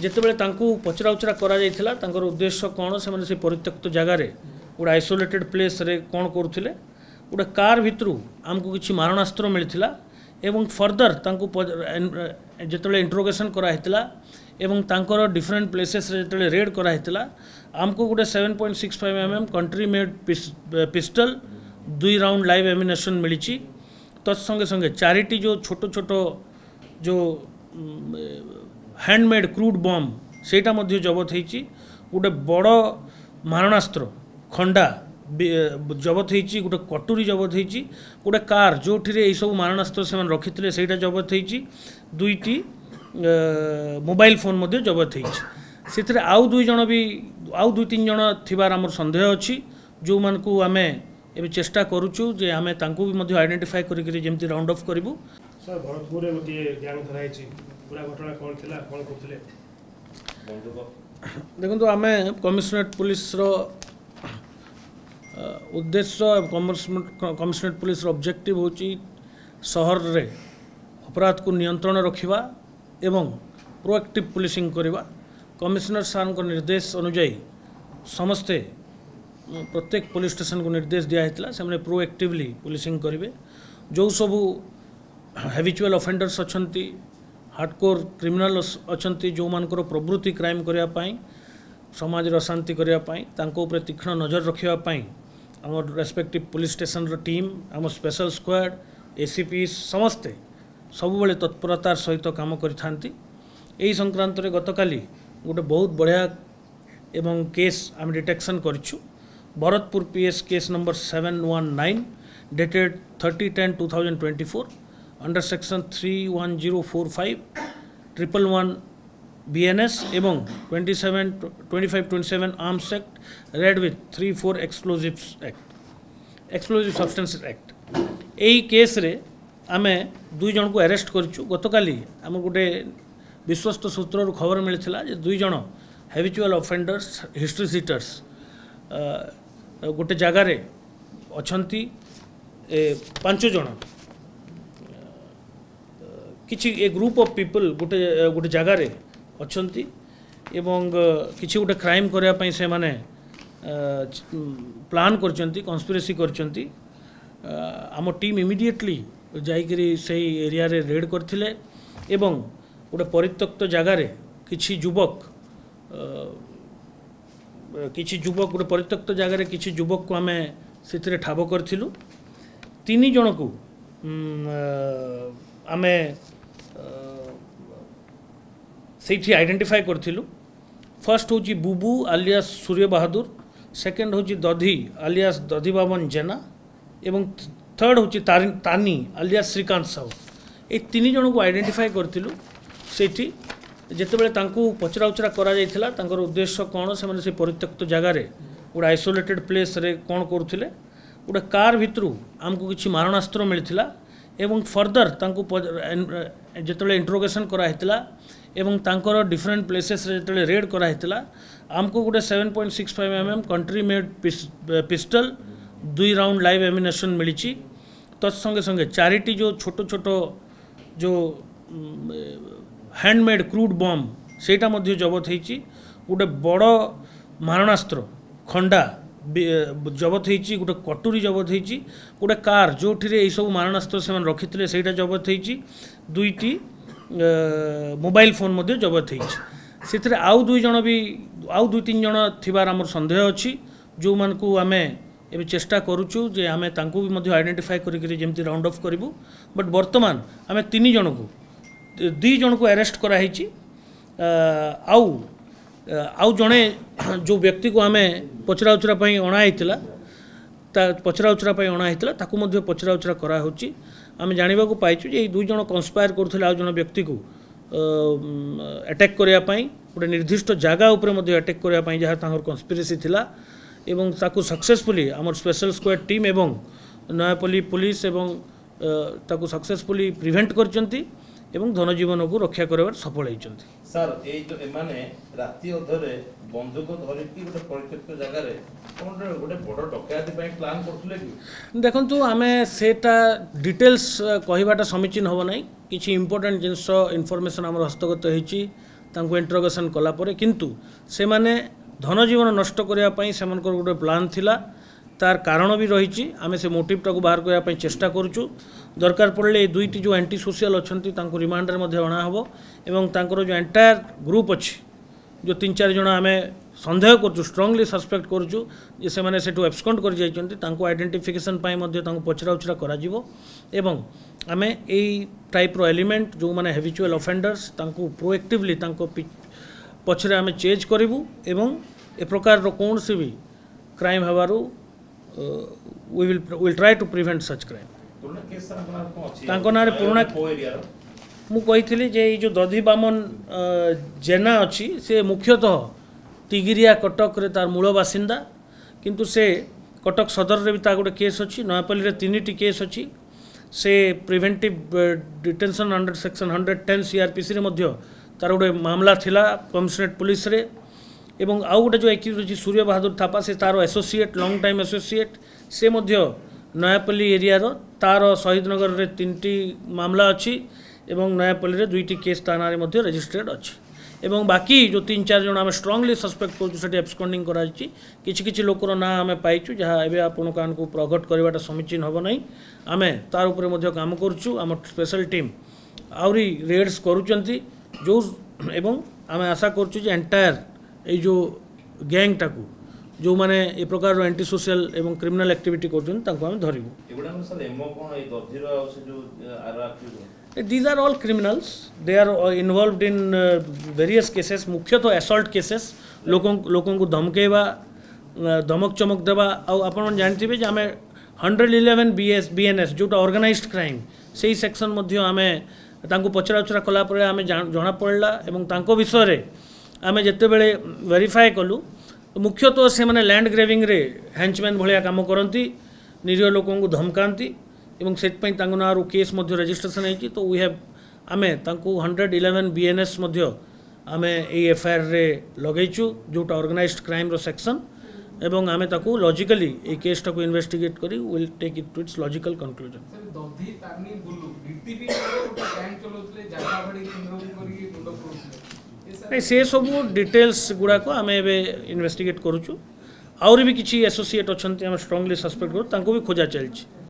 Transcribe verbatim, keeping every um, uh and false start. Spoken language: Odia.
ଯେତେବେଳେ ତାଙ୍କୁ ପଚରାଉଚରା କରାଯାଇଥିଲା ତାଙ୍କର ଉଦ୍ଦେଶ୍ୟ କ'ଣ ସେମାନେ ସେ ପରିତ୍ୟକ୍ତ ଜାଗାରେ ଗୋଟେ ଆଇସୋଲେଟେଡ୍ ପ୍ଲେସ୍ରେ କ'ଣ କରୁଥିଲେ ଗୋଟେ କାର୍ ଭିତରୁ ଆମକୁ କିଛି ମାରଣାସ୍ତ୍ର ମିଳିଥିଲା ଏବଂ ଫର୍ଦର ତାଙ୍କୁ ଯେତେବେଳେ ଇଣ୍ଟ୍ରୋଗେସନ୍ କରାହେଇଥିଲା ଏବଂ ତାଙ୍କର ଡିଫରେଣ୍ଟ ପ୍ଲେସେସ୍ରେ ଯେତେବେଳେ ରେଡ୍ କରାହେଇଥିଲା ଆମକୁ ଗୋଟେ seven point six five mm country made pistol ଦୁଇ ରାଉଣ୍ଡ ଲାଇଭ୍ ଆମ୍ୟୁନେସନ୍ ମିଳିଛି ତତ୍ ସଙ୍ଗେ ସଙ୍ଗେ ଚାରିଟି ଯେଉଁ ଛୋଟ ଛୋଟ ଯେଉଁ ହ୍ୟାଣ୍ଡମେଡ୍ କ୍ରୁଡ୍ ବମ୍ ସେଇଟା ମଧ୍ୟ ଜବତ ହେଇଛି ଗୋଟେ ବଡ଼ ମାରଣାସ୍ତ୍ର ଖଣ୍ଡା ଜବତ ହେଇଛି ଗୋଟେ କଟୁରୀ ଜବତ ହେଇଛି ଗୋଟେ କାର୍ ଯେଉଁଥିରେ ଏଇସବୁ ମାରଣାସ୍ତ୍ର ସେମାନେ ରଖିଥିଲେ ସେଇଟା ଜବତ ହେଇଛି ଦୁଇଟି ମୋବାଇଲ ଫୋନ୍ ମଧ୍ୟ ଜବତ ହେଇଛି ସେଥିରେ ଆଉ ଦୁଇ ଜଣ ବି ଆଉ ଦୁଇ ତିନି ଜଣ ଥିବାର ଆମର ସନ୍ଦେହ ଅଛି ଯେଉଁମାନଙ୍କୁ ଆମେ ଏବେ ଚେଷ୍ଟା କରୁଛୁ ଯେ ଆମେ ତାଙ୍କୁ ବି ମଧ୍ୟ ଆଇଡେଣ୍ଟିଫାଏ କରିକିରି ଯେମିତି ରାଉଣ୍ଡ ଅଫ୍ କରିବୁ ସାର୍ ଭରତପୁରରେ ଗୋଟିଏ ଗ୍ୟାଙ୍ଗ ଧରା ହେଇଛି ପୁରା ଘଟଣା କ'ଣ ଥିଲା କ'ଣ କରୁଥିଲେ ଦେଖନ୍ତୁ ଆମେ କମିଶନରେଟ୍ ପୁଲିସର ଉଦ୍ଦେଶ୍ୟ କମିଶନରେଟ୍ ପୁଲିସର ଅବଜେକ୍ଟିଭ୍ ହେଉଛି ସହରରେ ଅପରାଧକୁ ନିୟନ୍ତ୍ରଣ ରଖିବା ଏବଂ ପ୍ରୋଆକ୍ଟିଭ୍ ପୁଲିସିଂ କରିବା କମିଶନର ସାର୍ଙ୍କ ନିର୍ଦ୍ଦେଶ ଅନୁଯାୟୀ ସମସ୍ତେ ପ୍ରତ୍ୟେକ ପୋଲିସ ଷ୍ଟେସନକୁ ନିର୍ଦ୍ଦେଶ ଦିଆହେଇଥିଲା ସେମାନେ ପ୍ରୋଆକ୍ଟିଭଲି ପୁଲିସିଂ କରିବେ ଯେଉଁ ସବୁ ହ୍ୟାବିଚୁଆଲ୍ ଅଫେଣ୍ଡର୍ସ ଅଛନ୍ତି ହାର୍ଡ଼କୋର୍ କ୍ରିମିନାଲ୍ ଅଛନ୍ତି ଯେଉଁମାନଙ୍କର ପ୍ରବୃତ୍ତି କ୍ରାଇମ୍ କରିବା ପାଇଁ ସମାଜରେ ଅଶାନ୍ତି କରିବା ପାଇଁ ତାଙ୍କ ଉପରେ ତୀକ୍ଷ୍ଣ ନଜର ରଖିବା ପାଇଁ ଆମର ରେସ୍ପେକ୍ଟିଭ୍ ପୋଲିସ ଷ୍ଟେସନର ଟିମ୍ ଆମ ସ୍ପେଶାଲ ସ୍କ୍ୱାଡ୍ ଏସିପି ସମସ୍ତେ ସବୁବେଳେ ତତ୍ପରତାର ସହିତ କାମ କରିଥାନ୍ତି ଏହି ସଂକ୍ରାନ୍ତରେ ଗତକାଲି ଗୋଟେ ବହୁତ ବଢ଼ିଆ ଏବଂ କେସ୍ ଆମେ ଡିଟେକ୍ସନ୍ କରିଛୁ Bharatpur PS case number seven one nine dated thirty ten two thousand twenty four under section three one zero four five triple one BNS ଏବଂ twenty seven twenty five twenty seven Arms Act read with three four Explosives Act Explosive Substances Act ଏଇ କେସ୍ରେ ଆମେ ଦୁଇ ଜଣଙ୍କୁ ଆରେଷ୍ଟ କରିଛୁ ଗତକାଲି ଆମକୁ ଗୋଟେ ବିଶ୍ୱସ୍ତ ସୂତ୍ରରୁ ଖବର ମିଳିଥିଲା ଯେ ଦୁଇ ଜଣ ହ୍ୟାବିଚୁଆଲ୍ ଅଫେଣ୍ଡର୍ସ ହିଷ୍ଟ୍ରି ସିଟର୍ସ ଗୋଟେ ଜାଗାରେ ଅଛନ୍ତି ଏ ପାଞ୍ଚ ଜଣ କିଛି ଏ ଗ୍ରୁପ୍ ଅଫ୍ ପିପଲ୍ ଗୋଟେ ଗୋଟେ ଜାଗାରେ ଅଛନ୍ତି ଏବଂ କିଛି ଗୋଟେ କ୍ରାଇମ୍ କରିବା ପାଇଁ ସେମାନେ ପ୍ଲାନ୍ କରିଛନ୍ତି କନସ୍ପିରେସି କରିଛନ୍ତି ଆମ ଟିମ୍ ଇମିଡ଼ିଏଟଲି ଯାଇକରି ସେଇ ଏରିଆରେ ରେଡ୍ କରିଥିଲେ ଏବଂ ଗୋଟେ ପରିତ୍ୟକ୍ତ ଜାଗାରେ କିଛି ଯୁବକ କିଛି ଯୁବକ ଗୋଟେ ପରିତ୍ୟକ୍ତ ଜାଗାରେ କିଛି ଯୁବକକୁ ଆମେ ସେଥିରେ ଠାବ କରିଥିଲୁ ତିନି ଜଣକୁ ଆମେ ସେଇଠି ଆଇଡେଣ୍ଟିଫାଏ କରିଥିଲୁ ଫାର୍ଷ୍ଟ ହେଉଛି ବୁବୁ ଆଲିଆସ୍ ସୂର୍ଯ୍ୟ ବାହାଦୁର ସେକେଣ୍ଡ ହେଉଛି ଦଧି ଆଲିଆସ୍ ଦଧିବାବନ ଜେନା ଏବଂ ଥର୍ଡ଼ ହେଉଛି ତାନି ଆଲିଆସ୍ ଶ୍ରୀକାନ୍ତ ସାହୁ ଏଇ ତିନି ଜଣକୁ ଆଇଡେଣ୍ଟିଫାଏ କରିଥିଲୁ ସେଇଠି ଯେତେବେଳେ ତାଙ୍କୁ ପଚରାଉଚରା କରାଯାଇଥିଲା ତାଙ୍କର ଉଦ୍ଦେଶ୍ୟ କ'ଣ ସେମାନେ ସେ ପରିତ୍ୟକ୍ତ ଜାଗାରେ ଗୋଟେ ଆଇସୋଲେଟେଡ୍ ପ୍ଲେସ୍ରେ କ'ଣ କରୁଥିଲେ ଗୋଟେ କାର୍ ଭିତରୁ ଆମକୁ କିଛି ମାରଣାସ୍ତ୍ର ମିଳିଥିଲା ଏବଂ ଫର୍ଦର ତାଙ୍କୁ ଯେତେବେଳେ ଇଣ୍ଟ୍ରୋଗେସନ୍ କରାହେଇଥିଲା ଏବଂ ତାଙ୍କର ଡିଫରେଣ୍ଟ ପ୍ଲେସେସ୍ରେ ଯେତେବେଳେ ରେଡ୍ କରାହେଇଥିଲା ଆମକୁ ଗୋଟେ seven point six five mm country made pistol ଦୁଇ ରାଉଣ୍ଡ ଲାଇଭ୍ ଆମ୍ୟୁନେସନ୍ ମିଳିଛି ତତ୍ ସଙ୍ଗେ ସଙ୍ଗେ ଚାରିଟି ଯେଉଁ ଛୋଟ ଛୋଟ ଯେଉଁ ହ୍ୟାଣ୍ଡମେଡ୍ କ୍ରୁଡ୍ ବମ୍ ସେଇଟା ମଧ୍ୟ ଜବତ ହେଇଛି ଗୋଟେ ବଡ଼ ମାରଣାସ୍ତ୍ର ଖଣ୍ଡା ଜବତ ହେଇଛି ଗୋଟେ କଟୁରୀ ଜବତ ହେଇଛି ଗୋଟେ କାର୍ ଯେଉଁଥିରେ ଏଇସବୁ ମାରଣାସ୍ତ୍ର ସେମାନେ ରଖିଥିଲେ ସେଇଟା ଜବତ ହେଇଛି ଦୁଇଟି ମୋବାଇଲ ଫୋନ୍ ମଧ୍ୟ ଜବତ ହେଇଛି ସେଥିରେ ଆଉ ଦୁଇ ଜଣ ବି ଆଉ ଦୁଇ ତିନି ଜଣ ଥିବାର ଆମର ସନ୍ଦେହ ଅଛି ଯେଉଁମାନଙ୍କୁ ଆମେ ଏବେ ଚେଷ୍ଟା କରୁଛୁ ଯେ ଆମେ ତାଙ୍କୁ ବି ମଧ୍ୟ ଆଇଡେଣ୍ଟିଫାଏ କରିକିରି ଯେମିତି ରାଉଣ୍ଡ ଅଫ୍ କରିବୁ ବଟ୍ ବର୍ତ୍ତମାନ ଆମେ ତିନି ଜଣକୁ ଦୁଇ ଜଣକୁ ଆରେଷ୍ଟ କରାହେଇଛି ଆଉ ଆଉ ଜଣେ ଯେଉଁ ବ୍ୟକ୍ତିକୁ ଆମେ ପଚରାଉଚରା ପାଇଁ ଅଣା ହେଇଥିଲା ତା ପଚରାଉଚରା ପାଇଁ ଅଣା ହେଇଥିଲା ତାକୁ ମଧ୍ୟ ପଚରାଉଚରା କରାହେଉଛି ଆମେ ଜାଣିବାକୁ ପାଇଛୁ ଯେ ଏଇ ଦୁଇ ଜଣ କନସ୍ପାୟାର କରୁଥିଲେ ଆଉ ଜଣେ ବ୍ୟକ୍ତିକୁ ଆଟାକ୍ କରିବା ପାଇଁ ଗୋଟେ ନିର୍ଦ୍ଦିଷ୍ଟ ଜାଗା ଉପରେ ମଧ୍ୟ ଆଟାକ୍ କରିବା ପାଇଁ ଯାହା ତାଙ୍କର କନସ୍ପିରେସି ଥିଲା ଏବଂ ତାକୁ ସକ୍ସେସଫୁଲି ଆମର ସ୍ପେଶାଲ ସ୍କ୍ୱାଡ୍ ଟିମ୍ ଏବଂ ନୟାପଲ୍ଲୀ ପୋଲିସ ଏବଂ ତାକୁ ସକ୍ସେସଫୁଲି ପ୍ରିଭେଣ୍ଟ କରିଛନ୍ତି ଏବଂ ଧନଜୀବନକୁ ରକ୍ଷା କରିବାରେ ସଫଳ ହେଇଛନ୍ତି ସାର୍ ଏଇ ଯୋଉ ଏମାନେ ରାତି ଅଧରେ ବନ୍ଧୁକ ଧରିକି ଗୋଟେ ପରିତ୍ୟକ୍ତ ଜାଗାରେ କ'ଣ ଗୋଟେ ବଡ଼ ଡକାୟତି ପାଇଁ ପ୍ଲାନ୍ କରୁଥିଲେ କି ଦେଖନ୍ତୁ ଆମେ ସେଇଟା ଡିଟେଲ୍ସ କହିବାଟା ସମୀଚୀନ ହେବ ନାହିଁ କିଛି ଇମ୍ପୋର୍ଟାଣ୍ଟ ଜିନିଷ ଇନଫର୍ମେସନ୍ ଆମର ହସ୍ତଗତ ହେଇଛି ତାଙ୍କୁ ଇଣ୍ଟରୋଗେସନ୍ କଲା ପରେ କିନ୍ତୁ ସେମାନେ ଧନଜୀବନ ନଷ୍ଟ କରିବା ପାଇଁ ସେମାନଙ୍କର ଗୋଟେ ପ୍ଲାନ୍ ଥିଲା ତାର କାରଣ ବି ରହିଛି ଆମେ ସେ ମୋଟିଭଟାକୁ ବାହାର କରିବା ପାଇଁ ଚେଷ୍ଟା କରୁଛୁ ଦରକାର ପଡ଼ିଲେ ଏ ଦୁଇଟି ଯେଉଁ ଆଣ୍ଟି ସୋସିଆଲ ଅଛନ୍ତି ତାଙ୍କୁ ରିମାଣ୍ଡରେ ମଧ୍ୟ ଅଣାହେବ ଏବଂ ତାଙ୍କର ଯେଉଁ ଏଣ୍ଟାୟାର ଗ୍ରୁପ୍ ଅଛି ଯେଉଁ ତିନି ଚାରି ଜଣ ଆମେ ସନ୍ଦେହ କରୁଛୁ ଷ୍ଟ୍ରଙ୍ଗଲି ସସ୍ପେକ୍ଟ କରୁଛୁ ଯେ ସେମାନେ ସେଠୁ ଏବସ୍କଣ୍ଡ କରିଯାଇଛନ୍ତି ତାଙ୍କୁ ଆଇଡେଣ୍ଟିଫିକେସନ୍ ପାଇଁ ମଧ୍ୟ ତାଙ୍କୁ ପଚରା ଉଚରା କରାଯିବ ଏବଂ ଆମେ ଏଇ ଟାଇପ୍ର ଏଲିମେଣ୍ଟ ଯେଉଁମାନେ ହେବିଚୁଆଲ୍ ଅଫେଣ୍ଡର୍ସ ତାଙ୍କୁ ପ୍ରୋଏକ୍ଟିଭଲି ତାଙ୍କ ପଛରେ ଆମେ ଚେଜ୍ କରିବୁ ଏବଂ ଏ ପ୍ରକାରର କୌଣସି ବି କ୍ରାଇମ୍ ହେବାରୁ we will will try to prevent such crime ପୁରୁଣା କେସ୍ ସାର୍ ତାଙ୍କ ନାଁରେ କ'ଣ ଅଛି ତାଙ୍କ ନାଁରେ ପୁରୁଣା କୋଉ ଏରିଆର ମୁଁ କହିଥିଲି ଯେ ଏଇ ଯେଉଁ ଦଧିବାମନ ଅ, ଜେନା ଅଛି ସେ ମୁଖ୍ୟତଃ ତିଗିରିଆ କଟକରେ ତାର ମୂଳ ବାସିନ୍ଦା କିନ୍ତୁ ସେ କଟକ ସଦରରେ ବି ତା ଗୋଟେ କେସ୍ ଅଛି ନୟାପଲ୍ଲୀରେ ତିନିଟି କେସ୍ ଅଛି ସେ preventive detention under section hundred ten ସିଆର୍ପିସିରେ ମଧ୍ୟ ତାର ଗୋଟେ ମାମଲା ଥିଲା କମିଶନରେଟ୍ ପୁଲିସରେ ଏବଂ ଆଉ ଗୋଟେ ଯେଉଁ ଏକ୍ୟୁଜ୍ ଅଛି ସୂର୍ଯ୍ୟ ବାହାଦୁର ଥାପା ସେ ତାର ଆସୋସିଏଟ୍ ଲଙ୍ଗ୍ ଟାଇମ୍ ଆସୋସିଏଟ୍ ସେ ମଧ୍ୟ ନୟାପଲ୍ଲୀ ଏରିଆର ତାର ଶହୀଦନଗରରେ ତିନିଟି ମାମଲା ଅଛି ଏବଂ ନୟାପଲ୍ଲୀରେ ଦୁଇଟି କେସ୍ ତା ନାଁରେ ମଧ୍ୟ ରେଜିଷ୍ଟ୍ରେଡ୍ ଅଛି ଏବଂ ବାକି ଯେଉଁ ତିନି ଚାରି ଜଣ ଆମେ ଷ୍ଟ୍ରଙ୍ଗଲି ସସ୍ପେକ୍ଟ କରୁଛୁ ସେଠି ଏବସ୍କଣ୍ଡିଂ କରାଯାଇଛି କିଛି କିଛି ଲୋକର ନାଁ ଆମେ ପାଇଛୁ ଯାହା ଏବେ ଆପଣଙ୍କ ମାନଙ୍କୁ ପ୍ରକଟ କରିବାଟା ସମୀଚୀନ ହେବ ନାହିଁ ଆମେ ତାର ଉପରେ ମଧ୍ୟ କାମ କରୁଛୁ ଆମ ସ୍ପେଶାଲ ଟିମ୍ ଆହୁରି ରେଡ୍ସ କରୁଛନ୍ତି ଯେଉଁ ଏବଂ ଆମେ ଆଶା କରୁଛୁ ଯେ ଏଣ୍ଟାୟାର ଏଇ ଯେଉଁ ଗ୍ୟାଙ୍ଗଟାକୁ ଯେଉଁମାନେ ଏ ପ୍ରକାରର ଆଣ୍ଟି ସୋସିଆଲ ଏବଂ କ୍ରିମିନାଲ ଆକ୍ଟିଭିଟି କରୁଛନ୍ତି ତାଙ୍କୁ ଆମେ ଧରିବୁ ଏଗୁଡ଼ାକ ସାର୍ ଏମଓ କ'ଣ ଏଇ ଦଧିର ଆଉ ସେ ଯୋଉ ଆର accused These are all criminals. They are uh, involved in uh, various cases, ମୁଖ୍ୟତଃ assault cases ଲୋକଙ୍କୁ ଲୋକଙ୍କୁ ଧମକେଇବା ଅ, ଧମକ ଚମକ ଦେବା ଆଉ ଆପଣମାନେ ଜାଣିଥିବେ ଯେ ଆମେ hundred eleven B S B N S ଯେଉଁଟା ଅର୍ଗାନାଇଜଡ କ୍ରାଇମ୍ ସେଇ ସେକ୍ସନ୍ ମଧ୍ୟ ଆମେ ତାଙ୍କୁ ପଚରା ଉଚରା କଲା ପରେ ଆମେ ଜଣାପଡ଼ିଲା ଏବଂ ତାଙ୍କ ବିଷୟରେ ଆମେ ଯେତେବେଳେ ଭେରିଫାଏ କଲୁ ମୁଖ୍ୟତଃ ସେମାନେ ଲ୍ୟାଣ୍ଡ ଗ୍ରାବିଂରେ ହେଞ୍ଚମ୍ୟାନ୍ ଭଳିଆ କାମ କରନ୍ତି ନିରୀହ ଲୋକଙ୍କୁ ଧମକାନ୍ତି ଏବଂ ସେଥିପାଇଁ ତାଙ୍କ ନାଁରୁ କେସ୍ ମଧ୍ୟ ରେଜିଷ୍ଟ୍ରେସନ୍ ହେଇଛି ତ we have ଆମେ ତାଙ୍କୁ hundred eleven B N S ମଧ୍ୟ ଆମେ ଏଇ ଏଫଆଇଆର୍ରେ ଲଗେଇଛୁ ଯେଉଁଟା ଅର୍ଗାନାଇଜଡ କ୍ରାଇମ୍ର ସେକ୍ସନ୍ ଏବଂ ଆମେ ତାକୁ ଲଜିକାଲି ଏଇ କେସ୍ଟାକୁ ଇନଭେଷ୍ଟିଗେଟ୍ କରି will take it to its logical conclusion sir ଦଧି ତାନି ବୁଲୁ ଡିଟିପି ଗୋଟେ ଗ୍ୟାଙ୍ଗ ଚଲାଉଥିଲେ ଜାଗା ବାଡ଼ି କିଣିବାକୁ କରିକି ମୁଣ୍ଡ ପୁରଉଥିଲେ ଏ ସାର୍ ନାଇଁ ସେ ସବୁ ଡିଟେଲ୍ସ ଗୁଡ଼ାକ ଆମେ ଏବେ ଇନଭେଷ୍ଟିଗେଟ୍ କରୁଛୁ ଆହୁରି ବି କିଛି ଆସୋସିଏଟ୍ ଅଛନ୍ତି ଆମେ ଷ୍ଟ୍ରଙ୍ଗଲି ସସ୍ପେକ୍ଟ କରୁ ତାଙ୍କୁ ବି ଖୋଜା ଚାଲିଛି